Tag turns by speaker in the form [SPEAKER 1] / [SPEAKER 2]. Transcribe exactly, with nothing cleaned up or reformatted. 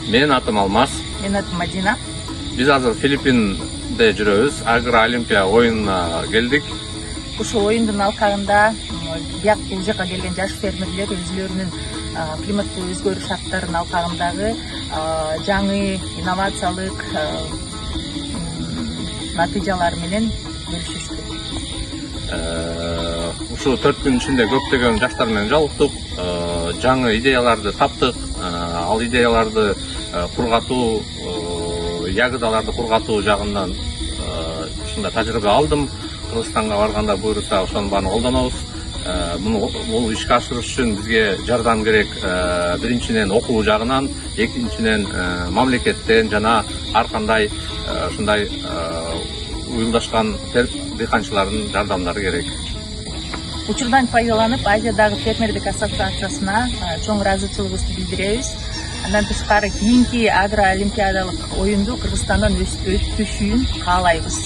[SPEAKER 1] Менин атым Алмаз.
[SPEAKER 2] Менин атым Мадина.
[SPEAKER 1] Биз азыр Филиппинде жүрөбүз. Агроолимпия оюнуна келдик.
[SPEAKER 2] Ушул оюндун алкагында бияк бул жака келген жаш фермерлер өзүлөрүнүн климаттык өзгөрүү шарттарынын алкагындагы жаңы инновациялык натыйжалар менен бөлүшүштү.
[SPEAKER 1] Ушул төрт күн ичинде көптөгөн жаштар менен жолуктук, жаңы идеяларды таптык. Ал идеяларды кургатуу, ягыдаларды кургатуу жагынан ушундай тажрыйба алдым. Кыргызстанга барганда буйруса ошонун баарын колдонобуз. Муну бул ишке ашырыш үчүн бизге жардам керек. Биринчиден окуу жагынан, экинчиден мамлекеттен жана ар кандай ушундай уюлдашкан дыйканчылардын жардамдары керек.
[SPEAKER 2] Учурдан пайдаланып, Азиядагы фермердик ассоциациясына чоң ыраазычылыгыбызды билдиребиз. Андан тышкары кийинки агроолимпиадалык оюнду Кыргызстандан өткүзүшүн каалайбыз.